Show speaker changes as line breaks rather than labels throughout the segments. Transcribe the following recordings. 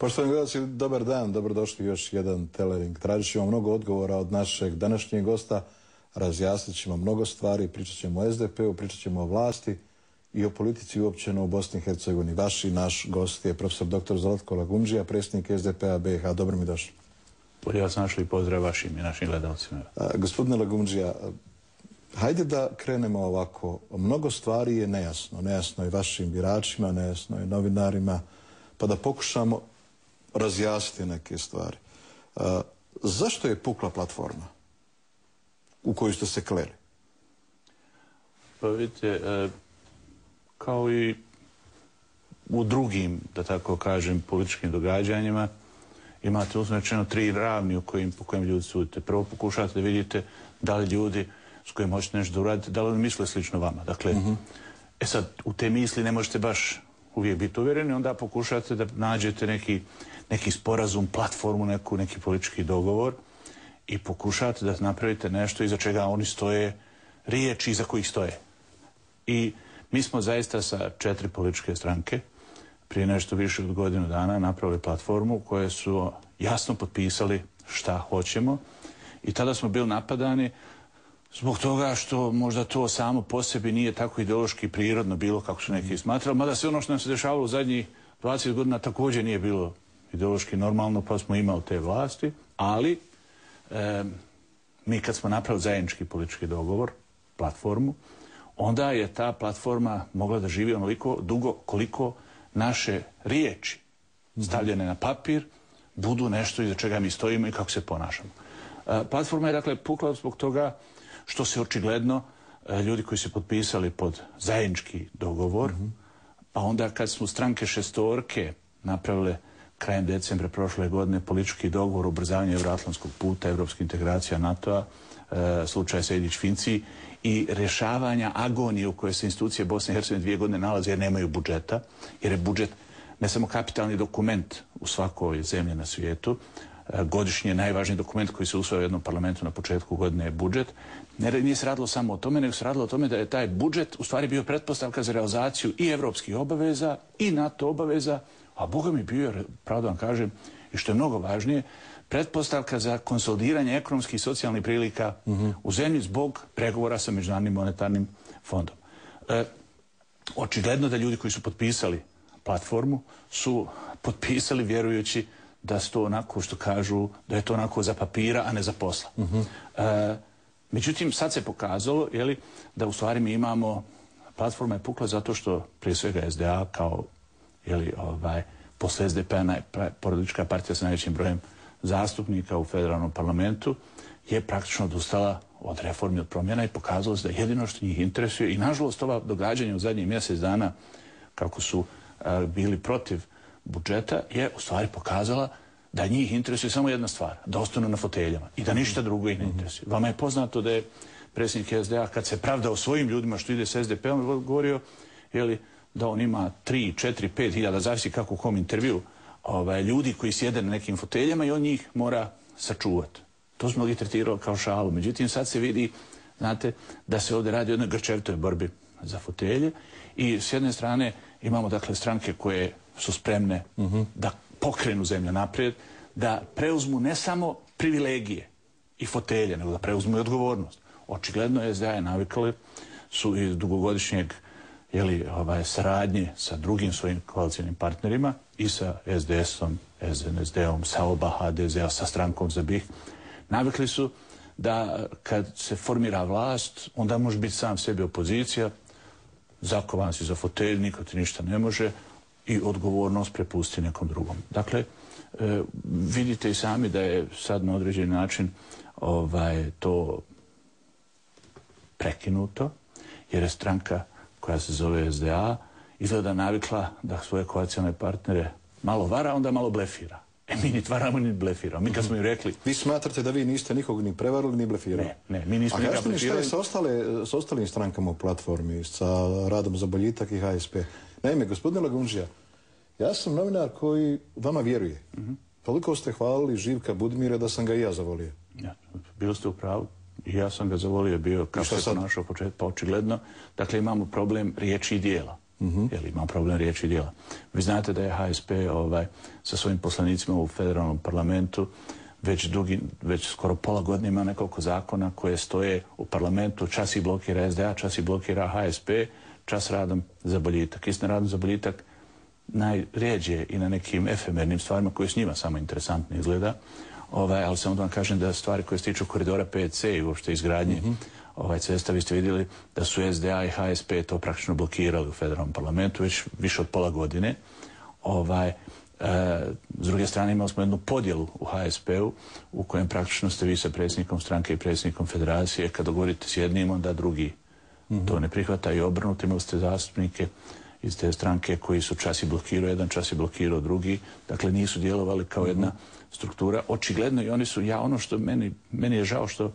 Poštovani gledalci, dobar dan, dobrodošli još jedan Telering. Tražit ćemo mnogo odgovora od našeg današnjeg gosta, razjasnit ćemo mnogo stvari, pričat ćemo o SDP-u, pričat ćemo o vlasti i o politici uopćeno u Bosni i Hercegovini. Vaš i naš gost je profesor dr. Zlatko Lagundžija, predsjednik SDP-a BiH. Dobro mi došli.
Bolje vas našli i pozdrav vašim i našim gledalcima.
Gospodine Lagundžija, hajde da krenemo ovako. Mnogo stvari je nejasno. Nejasno je vašim biračima, nejasno je novinarima, pa da pokušamo razjasniti neke stvari. Zašto je pukla platforma u koju ste se kleli?
Pa vidite, kao i u drugim, da tako kažem, političkim događanjima, imate uzmečeno 3 ravni po kojim ljudi sudite. Prvo pokušate da vidite da li ljudi s kojim hoćete nešto da uradite, da li oni misle slično vama. Dakle, sad, u te misli ne možete baš uvijek biti uvjereni, onda pokušate da nađete neki sporazum, platformu, neki politički dogovor i pokušate da napravite nešto iza čega oni stoje, riječi iza kojih stoje. I mi smo zaista sa 4 političke stranke prije nešto više od godinu dana napravili platformu koje su jasno potpisali šta hoćemo i tada smo bili napadani zbog toga što možda to samo po sebi nije tako ideološki prirodno bilo kako su neki smatrali, mada sve ono što nam se dešavalo u zadnjih 20 godina također nije bilo ideološki normalno, pa smo imali te vlasti, ali mi kad smo napravili zajednički politički dogovor, platformu, onda je ta platforma mogla da živi onoliko dugo koliko naše riječi stavljene na papir budu nešto iza čega mi stojimo i kako se ponašamo. Platforma je dakle pukla zbog toga što se očigledno ljudi koji su potpisali pod zajednički dogovor, pa onda kad smo stranke šestorke napravile krajem decembra prošle godine politički dogovor o ubrzavanju evroatlantskog puta, evropske integracija NATO-a, slučaj Sejdić-Finci i rješavanja agonije u kojoj se institucije Bosne i Hercegovine 2 godine nalaze jer nemaju budžeta, jer je budžet ne samo kapitalni dokument u svakoj zemlji na svijetu, godišnje najvažniji dokument koji se usvaja u jednom parlamentu na početku godine je budžet. Nije se radilo samo o tome, nego se radilo o tome da je taj budžet u stvari bio pretpostavka za realizaciju i evropskih obaveza i NATO obaveza, a Boga mi bio, pravo da vam kažem, i što je mnogo važnije, pretpostavka za konsolidiranje ekonomskih i socijalnih prilika u zemlji zbog pregovora sa Međunarodnim monetarnim fondom. Očigledno da ljudi koji su potpisali platformu su potpisali vjerujući da su to onako što kažu, da je to onako za papira, a ne za posla. Međutim, sad se pokazalo da u stvari mi imamo, platforma je pukla zato što prije svega SDA kao posle SDP-a politička partija sa najvećim brojem zastupnika u federalnom parlamentu je praktično odustala od reformi, od promjena i pokazalo se da jedino što njih interesuje i nažalost ova događanja u zadnjih mjesec dana kako su bili protiv budžeta je u stvari pokazala da njih interesuje samo jedna stvar, da ostanu na foteljama i da ništa drugo ih ne interesuje. Vama je poznato da je predsjednik SDA kad se pravdao svojim ljudima što ide s SDP-om govorio da on ima 3, 4, 5 hiljada, zavisi kako u kom intervju, ljudi koji sjede na nekim foteljama i on njih mora sačuvati. To smo mnogi tretirali kao šalu. Međutim, sad se vidi, znate, da se ovdje radi o jednoj grčevitoj borbi za fotelje i s jedne strane imamo dakle stranke koje su spremne da pokrenu zemlju naprijed, da preuzmu ne samo privilegije i fotelje, nego da preuzmu i odgovornost. Očigledno SDA je navikali su iz dugogodišnjeg saradnje sa drugim svojim koalicijnim partnerima i sa SDS-om, SNSD-om, sa oba HDZ-a, sa strankom za BiH. Navikli su da kad se formira vlast, onda može biti sam sebi opozicija, zakovan si za fotelj, niko ti ništa ne može i odgovornost prepusti nekom drugom. Dakle, vidite i sami da je sad na određeni način to prekinuto, jer je stranka koja se zove SDA izgleda navikla da svoje koalicijne partnere malo vara, onda malo blefira. Mi ni varamo, ni blefiramo. Mi kad smo im rekli...
Vi smatrate da vi niste nikog ni prevarili, ni blefirali?
Ne, mi nismo nikog blefirali.
A kažete mi šta je s ostalim strankama u platformi, sa Radom za boljitak i HSP? Naime, gospodine Lagundžija, ja sam novinar koji vama vjeruje. Toliko ste hvalili Živka Budimira da sam ga i ja zavolio.
Bili ste u pravu. I ja sam ga zavolio bio kako se ponašao početku, pa očigledno. Dakle, imamo problem riječi i dijela. Jer ima problem riječi i djela. Vi znate da je HSP sa svojim poslanicima u federalnom parlamentu već skoro pola godine ima nekoliko zakona koje stoje u parlamentu, čas i blokira SDA, čas i blokira HSP, čas radom za boljitak. Istina, radom za boljitak najrijeđe i na nekim efemernim stvarima koje s njima samo interesantno izgleda, ali samo da vam kažem da stvari koje se tiču koridora 5C i uopšte izgradnje cesta, vi ste vidjeli da su SDA i HSP to praktično blokirali u federalnom parlamentu već više od pola godine. S druge strane imali smo jednu podjelu u HSP-u u kojem praktično ste vi sa predsjednikom stranke i predsjednikom federacije, kad dogovorite s jednim, onda drugi to ne prihvata i obrnuto. Imali ste zastupnike iz te stranke koji su čas i blokirao jedan, čas i blokirao drugi. Dakle, nisu djelovali kao jedna struktura. Očigledno i oni su, ono što meni je žao što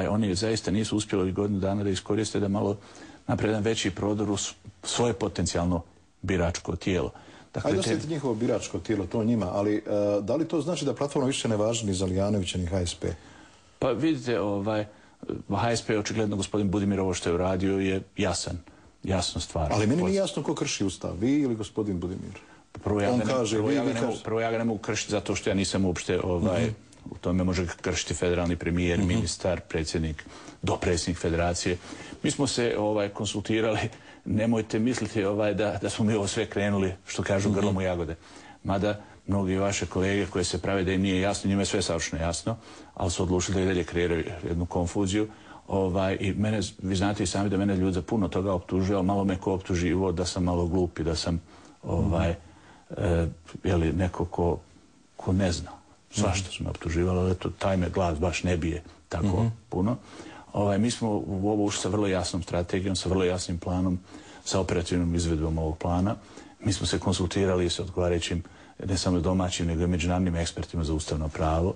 oni zaista nisu uspjeli ovih godinu dana da iskoriste da malo naprave jedan veći prodor u svoje potencijalno biračko tijelo.
Ajde osjetiti njihovo biračko tijelo, to njima, ali da li to znači da platforma više ne važi ni za Lijanovića ni HSP?
Pa vidite, HSP je očigledno gospodin Budimir ovo što je uradio je jasna stvar.
Ali meni nije jasno ko krši ustav, vi ili gospodin Budimir?
Prvo ja ga ne mogu kršiti zato što ja nisam uopšte u tome može kršiti federalni premijer, ministar, predsjednik, dopredsjednik federacije. Mi smo se konsultirali, nemojte misliti da smo mi ovo sve krenuli, što kažu, grlom u jagode. Mada mnogi vaše kolege koje se prave da im nije jasno, njima je sve savršeno jasno, ali su odlučili da i dalje kreiraju jednu konfuziju. I mene, vi znate i sami da mene ljudi za puno toga optužuju, ali malo me ko optuživo da sam malo glup i da sam neko ko ne zna. Svašta su me optuživali, ali taj me glas baš ne bije tako puno. Mi smo u ovo ušli sa vrlo jasnom strategijom, sa vrlo jasnim planom, sa operativnom izvedbom ovog plana. Mi smo se konsultirali sa odgovarajućim, ne samo domaćim, nego i međunarodnim ekspertima za ustavno pravo.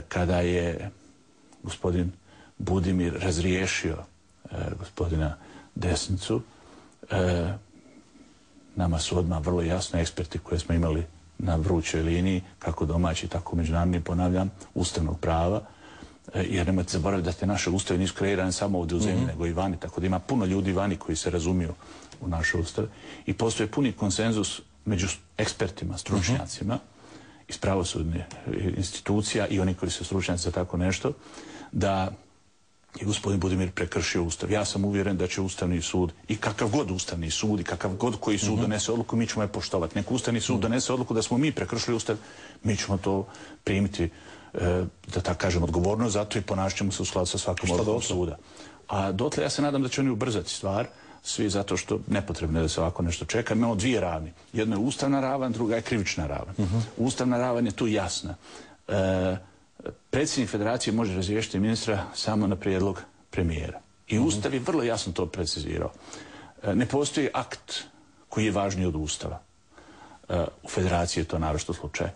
Kada je gospodin Budimir razriješio gospodina Desnicu, nama su odmah vrlo jasno eksperti koje smo imali na vrućoj liniji, kako domaći, tako međunarodni, ponavljam, ustavnog prava, jer nemojte zaboraviti da te naše ustave nisu kreirane samo ovdje u zemlji, nego i vani, tako da ima puno ljudi vani koji se razumiju u naše ustave i postoje puni konsenzus među ekspertima, stručnjacima iz pravosudne institucija i oni koji su stručnjaci za tako nešto, da je gospodin Budimir prekršio ustav. Ja sam uvjeren da će Ustavni sud i kakav god Ustavni sud i kakav god koji sud donese odluku, mi ćemo je poštovati. Nek Ustavni sud donese odluku da smo mi prekršili ustav, mi ćemo to primiti, da tako kažem, odgovornost, zato i ponašat ćemo se u skladu sa svakom odlukom suda. A dotle ja se nadam da će oni ubrzati stvar, svi zato što nepotrebno je da se ovako nešto čeka. Imamo dvije ravni. Jedno je ustavna ravan, druga je krivična ravan. Ustavna ravan je tu jasna. Predsjednik federacije može razriješiti ministra samo na prijedlog premijera. I Ustav je vrlo jasno to precizirao. Ne postoji akt koji je važniji od Ustava. U federaciji je to naročito slučaj.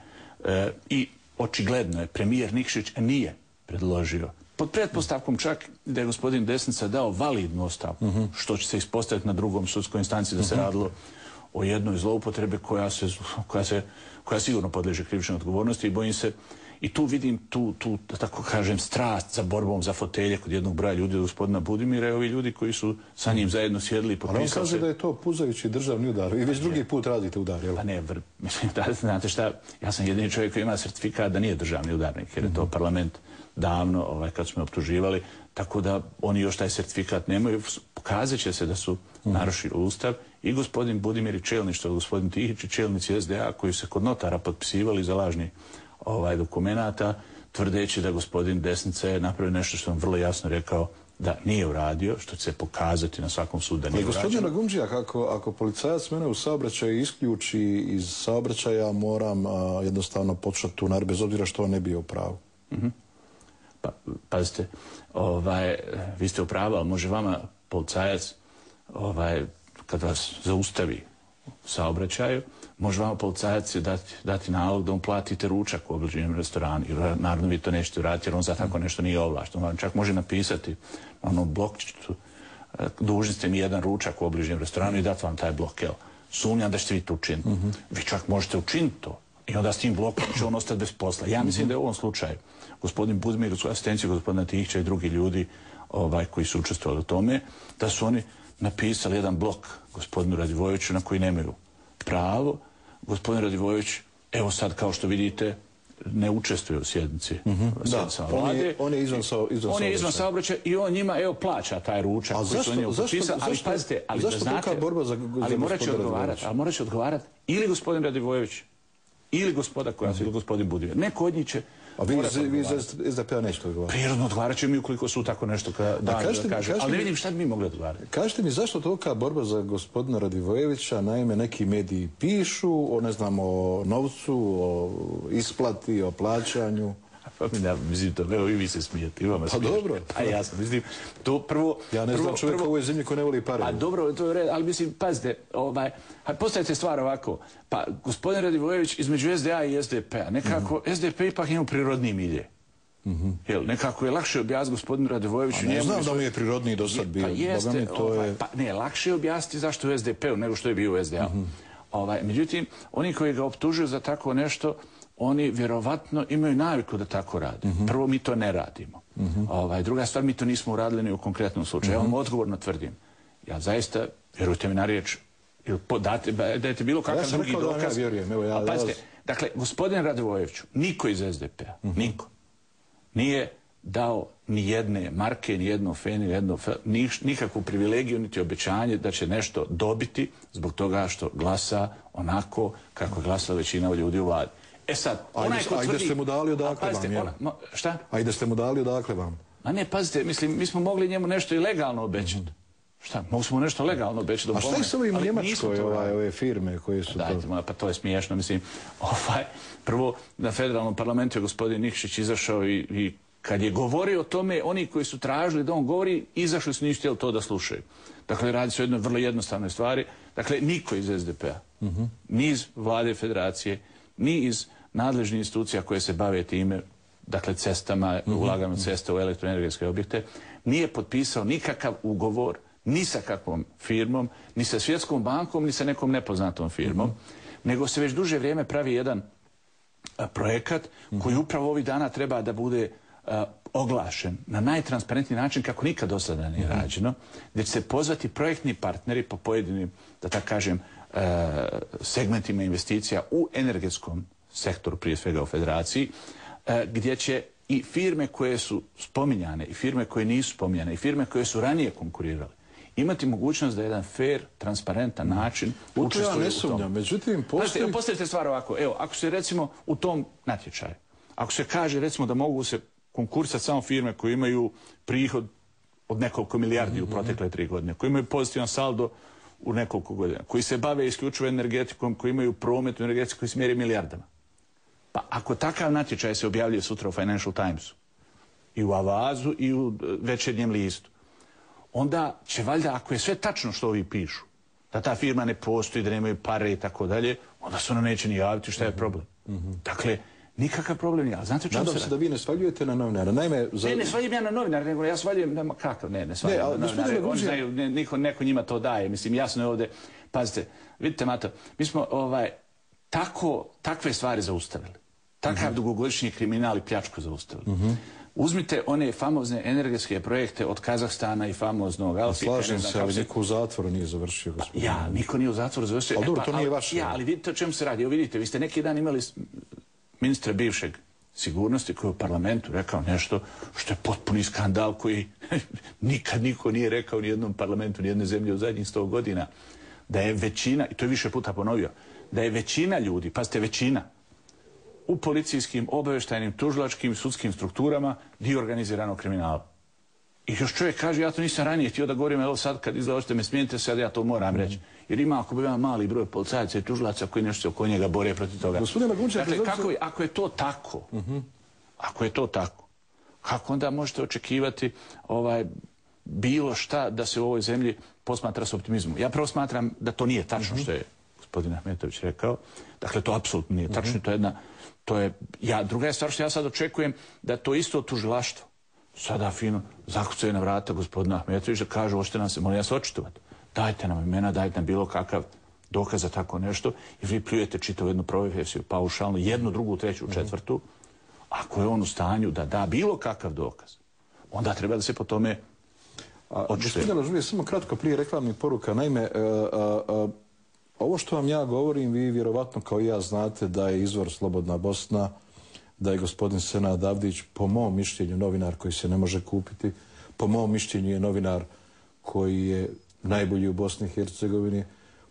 I očigledno je premijer Nikšić nije predložio, pod pretpostavkom čak da je gospodin Desnica dao validnu ostavku, što će se ispostaviti na drugom sudskoj instanciji da se radilo o jednoj zloupotrebi koja sigurno podliježe krivičnoj odgovornosti i bojim se. I tu vidim tu, da tako kažem, strast za borbom za fotelje kod jednog broja ljudi od gospodina Budimira i ovi ljudi koji su sa njim zajedno sjedili i potpisali se.
Ali on kaže da je to puzajući državni udar. Vi već drugi put radite udar, jel?
Pa ne, mislim, znate šta, ja sam jedini čovjek koji ima certifikat da nije državni udarnik, jer je to parlament davno, kad smo optuživali, tako da oni još taj certifikat nemaju. Pokazat će se da su narušili ustav i gospodin Budimir i čelništvo, gospodin Tihić i čelnici SDA koji se kod notara potpisivali za lažni dokumenata, tvrdeći da gospodin Desnica je napravio nešto što vam vrlo jasno rekao da nije uradio, što će se pokazati na svakom sudu da nije uradio.
Gospodin Ragundžija, ako policajac mene u saobraćaju isključi iz saobraćaja, moram jednostavno početi tu naredbu, bez obzira što on ne bio u pravu.
Pa, pazite, vi ste u pravu, ali može vama policajac, kad vas zaustavi u saobraćaju, može vama policajac dati nalog da mu platite ručak u obližnjem restoranu. Naravno vi to nećete uraditi jer on za tako nešto nije ovlašten. On čak može napisati blokčiću, dužni ste mi jedan ručak u obližnjem restoranu i dati vam taj blok. Sumnjam da ćete vi to učiniti. Vi čak možete učiniti to i onda s tim blokom će on ostati bez posla. Ja mislim da je u ovom slučaju gospodin Budimir u asistenciji gospodina Tihića i drugi ljudi koji su učestvovali u tome, da su oni napisali jedan blok gospodinu Radivojeviću na koji nemaju pravo. Gospodin Radivojević, evo sad kao što vidite, ne učestvuje u sjednici vlade.
On je izvan
saobraćaja i on njima, evo, plaća taj ručak koji su oni potpisali. Ali pazite,
zašto tolika borba za
morat će odgovarati ili gospodin Radivojević, ili gospoda koja ili gospodin Budimir. Neko od njih će...
A vi iz SDP-a nećete odgovarati?
Prirodno odgovarat će mi ukoliko su tako nešto da kažu. Ali ne vidim šta bi mi mogli odgovarati.
Kažete mi zašto tolika borba za gospodina Radivojevića? Naime, neki mediji pišu o, ne znam, o novcu, o isplati, o plaćanju.
Pa mislim, evo i vi se smijete.
Pa dobro.
Pa jasno, mislim, to prvo...
Ja ne znam čovjeka u ovoj zemlji ko ne voli pare.
Pa dobro, to je red, ali mislim, pazite, postavite stvar ovako. Pa, gospodin Radivojević između SDA i SDP-a, nekako SDP ipak ima prirodniji milje. Nekako je lakše objasniti gospodinu Radivojeviću...
Ne znam da mi je prirodniji do sad bio.
Pa jeste, ne, lakše je objasniti zašto je u SDP-u nego što je bio u SDA-u. Međutim, oni koji ga optužuju za tako nešto, oni vjerovatno imaju naviku da tako rade. Prvo, mi to ne radimo. Druga stvar, mi to nismo uradili ni u konkretnom slučaju. Ja vam odgovorno tvrdim. Ja zaista, vjerujte mi na riječ, dajte bilo kakav drugi dokaz. Pazite, dakle, gospodin Radivojeviću, niko iz SDP-a, niko, nije dao ni jedne marke, ni jedno feni, nikakvu privilegiju, niti obećanje da će nešto dobiti zbog toga što glasa onako kako je glasala većina ljudi u vladi. E sad, onaj ko tvrdi...
A i da ste mu dali odakle vam, jel?
Šta?
A i da ste mu dali odakle vam?
A ne, pazite, mislim, mi smo mogli njemu nešto i legalno obećati. Šta, mogli smo nešto legalno obećati.
A šta je s ovim u Njemačkoj, ove firme koje su to...
Dajte, pa to je smiješno, mislim. Prvo, na federalnom parlamentu je gospodin Nikšić izašao i kad je govorio o tome, oni koji su tražili da on govori, izašli su, nisu htjeli to da slušaju. Dakle, radi se o jednoj vrlo jednostavnoj stvari. Dakle, niko iz SDP-a, ni iz vlade federacije, ni iz nadležnih institucija koje se bave time, dakle cestama, ulaganjem cesta u elektroenergetske objekte, nije potpisao nikakav ugovor ni sa kakvom firmom, ni sa Svjetskom bankom, ni sa nekom nepoznatom firmom, nego se već duže vrijeme pravi jedan projekat koji upravo ovih dana treba da bude oglašen na najtransparentniji način kako nikad do sada nije rađeno, gdje će se pozvati projektni partneri po pojedinim, da tako kažem, segmentima investicija u energetskom sektoru, prije svega u federaciji, gdje će i firme koje su spominjane, i firme koje nisu spominjane, i firme koje su ranije konkurirale, imati mogućnost da jedan fair, transparentan način učestvuju u tom.
Međutim, postoji...
Postavite stvar ovako, evo, ako se recimo u tom natječaju, ako se kaže recimo da mogu se konkursati samo firme koje imaju prihod od nekoliko milijardi u protekle 3 godine, koji imaju pozitivan saldo u nekoliko godina, koji se bave isključivo energetikom, koji imaju promet u energetiku koji se mjeri milijardama. Pa ako takav natječaj se objavljuje sutra u Financial Timesu, i u Avazu, i u Večernjem listu, onda će valjda, ako je sve tačno što ovi pišu, da ta firma ne postoji, da nemaju pare i tako dalje, onda se ona neće ni javiti šta je problem. Dakle, nikakav problem nije. Znate čemu se radi?
Nadam se da vi ne svaljujete na novinara.
Ne svaljujem ja na novinara, nego ja svaljujem... Kakav? Ne svaljujem na novinara. Oni znaju, neko njima to daje. Mislim, jasno je ovdje... Pazite, vidite, Mato, mi smo takve stvari zaustavili. Takav dugogodišnji kriminal i pljačku zaustavili. Uzmite one famozne energetske projekte od Kazahstana i famoznog Alfita.
Slažem se, ali niko u zatvoru nije završio, gospodin.
Ja, niko nije u zatvoru završio.
Ali dobro, to nije vaše.
Ja, ali vidite o čemu se radi. Evo vidite, vi ste neki dan imali ministra bivšeg sigurnosti koji je u parlamentu rekao nešto što je potpuni skandal koji nikad niko nije rekao ni jednom parlamentu, ni jedne zemlje u zadnjih 100 godina. Da je većina, i to je više puta ponovio, da je većina ljudi, pazite, većina, u policijskim, obavještajnim, tužilačkim, sudskim strukturama dio organiziranog kriminala. I još čovjek kaže, ja to nisam ranije htio da govorim, evo sad kad izlažete me, smijenite sad, ja to moram reći. Jer ima, ako bi imao mali broj policajaca i tužilaca koji nešto se oko njega bore protiv toga. Dakle, ako je to tako, kako onda možete očekivati bilo šta da se u ovoj zemlji posmatra s optimizmom? Ja prvo smatram da to nije tačno što je gospodin Ahmetović rekao. Dakle, to apsolutno nije tačno. Druga je stvar što ja sad očekujem da to isto tužilaštvo sada fino zakucaju na vrata gospodina Ahmetovića da kažu, hoćete nam se, molim vas, očitovati. Dajte nam imena, dajte nam bilo kakav dokaz za tako nešto i vi pljujete čitavu jednu profesiju paušalno, jednu, drugu, treću, četvrtu. Ako je on u stanju da da bilo kakav dokaz, onda treba da se po tome
Gospodine Lažovije, samo kratko prije reklamnih poruka. Naime, ovo što vam ja govorim, vi vjerovatno kao i ja znate da je izvor Slobodna Bosna, da je gospodin Senad Avdić, po mom mišljenju, novinar koji se ne može kupiti, po mom mišljenju je novinar koji je najbolji u Bosni i Hercegovini,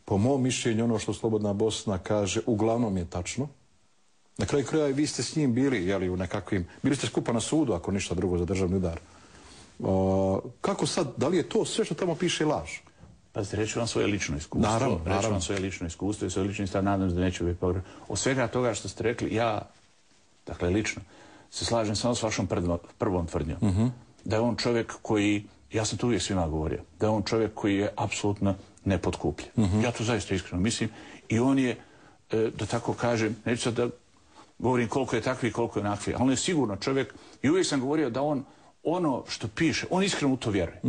po mom mišljenju ono što Slobodna Bosna kaže uglavnom je tačno. Na kraju kraja vi ste s njim bili, jeli, u nekakvim, bili ste skupa na sudu, ako ništa drugo, za državni udar. Kako sad, da li je to sve što tamo piše laž?
Pa reću vam svoje lično iskustvo.
Naravno.
Reću vam svoje lično iskustvo i svoje lični stav, nadam se da neće biti pogrešno. Od svega toga što ste rekli, ja, dakle lično, se slažem samo s vašom prvom tvrdnjom. Da je on čovjek koji, ja sam to uvijek svima govorio, da je on čovjek koji je apsolutno nepotkupljen. Ja to zaista iskreno mislim i on je, da tako kažem, neću sad da govorim koliko je takvi i koliko je onakvi, ali on je sigurno čovjek i uvijek sam govorio da on ono što piše, on iskreno u to vjeruje.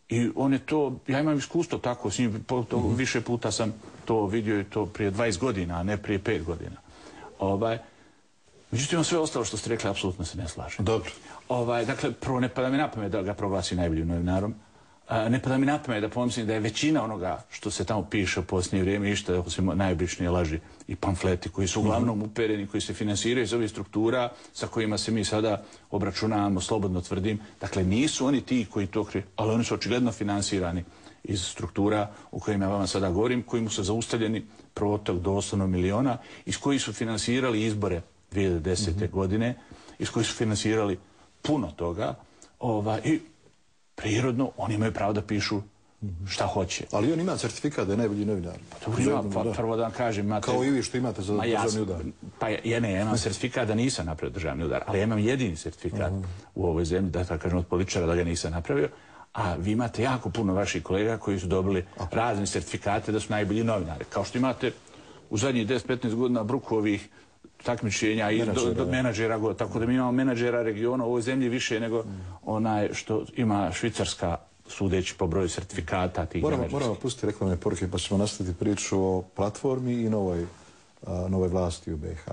I on je to, ja imam iskustvo tako s njim, više puta sam to vidio i to prije 20 godina, a ne prije 5 godina. Međutim, sve ostalo što ste rekli, apsolutno se ne slažem.
Dobro.
Dakle, prvo ne pada mi na pamet da ga proglasi najboljim novinarom. Ne pada mi na pamet da pomislim da je većina onoga što se tamo piše u posljednje vrijeme išta osim najobičnije laži i pamfleti koji su uglavnom upereni, koji se finansiraju iz ovih struktura sa kojima se mi sada obračunavamo, slobodno tvrdim. Dakle, nisu oni ti koji to kriju, ali oni su očigledno finansirani iz struktura u kojima ja vama sada govorim, kojim su zaustavljeni protok doslovno miliona, iz kojih su finansirali izbore 2010. godine, iz kojih su finansirali puno toga i prirodno oni imaju pravo da pišu šta hoće.
Ali on ima certifikat da je najbolji novinar.
Prvo da vam kažem, imate...
Kao i vi što imate za državni udar.
Pa ja imam certifikat da nisam napravio državni udar, ali ja imam jedini certifikat u ovoj zemlji, da tako kažem od političara, da ga nisam napravio, a vi imate jako puno vaših kolega koji su dobili razne certifikate da su najbolji novinari. Kao što imate u zadnjih 10-15 godina Brukovih takmičenja i menadžera, tako da mi imamo menadžera regiona u ovoj zemlji više nego onaj što ima Švicarska, sudeći po broju sertifikata tih menadžerskih.
Moramo pustiti reklamne poruke pa ćemo nastaviti priču o platformi i novoj vlasti u BiH.